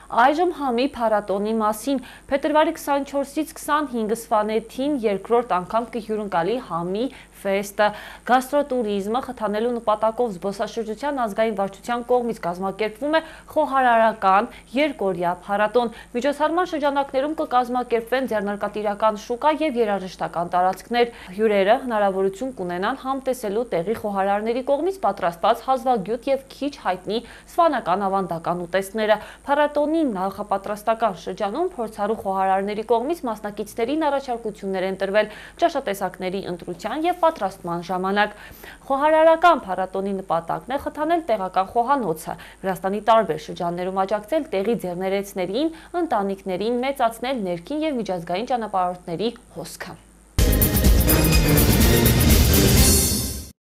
Այժմ համի փառատոնի մասին փետրվարի 24-ից 25 սվանեթին երկրորդ անգամ կհյուրընկալի համի ֆեստը գաստրոտուրիզմը խթանելու նպատակով զբոսաշրջության ազգային վարչության կողմից կազմակերպվում է խոհարարական երկօրյա փառատոն։ Միջոցառման շրջանակներում կկազմակերպվեն ձեռնարկատիրական շուկա եւ երաժշտական տարածքներ։ Հյուրերը հնարավորություն կունենան համտեսելու տեղի խոհարարների կողմից պատրաստված հազվագյուտ եւ քիչ հայտնի սվանական ավանդական ուտեստները։ Փառատոնի նախապատրաստական շրջանում փորձառու խոհարարների կողմից մասնակիցներին առաջարկություններ են տրվել ճաշատեսակների ընտրության եւ պատրաստման ժամանակ։ Խոհարարական փառատոնի նպատակն է խթանել տեղական խոհանոցը, Վրաստանի տարբեր շրջաններում աջակցել տեղի ձեռներեցներին, ընտանիքներին, մեծացնել ներքին եւ միջազգային ճանապարհորդների հոսքը։